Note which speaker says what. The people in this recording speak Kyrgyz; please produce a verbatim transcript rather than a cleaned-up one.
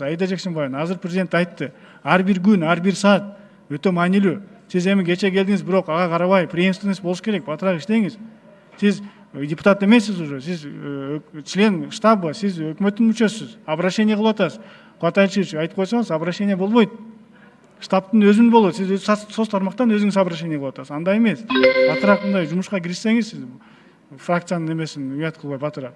Speaker 1: Аида Жакшымбаева азыр президент айтты. Ар бир күн, ар бир саат өтө маанилүү. Сиз эми кече келдиңиз, бирок ага карабай, преемственность болуш керек, батыраак иштеңиз. Сиз депутат эмессиз уже, сиз член штаба, сиз өкмөттүн мүчөсүсүз. Обращение кылып атасыз. Кубат Алишерович айтып койсоңуз, обращение болбойт. Штабтын өзүн болот. Сиз соц тармактан өзүңүз обращение кылып атасыз. Андай эмес. Батыраак мындай жумушка киришсеңиз, сиз фракциянын эмесин уят кылбай батыраак.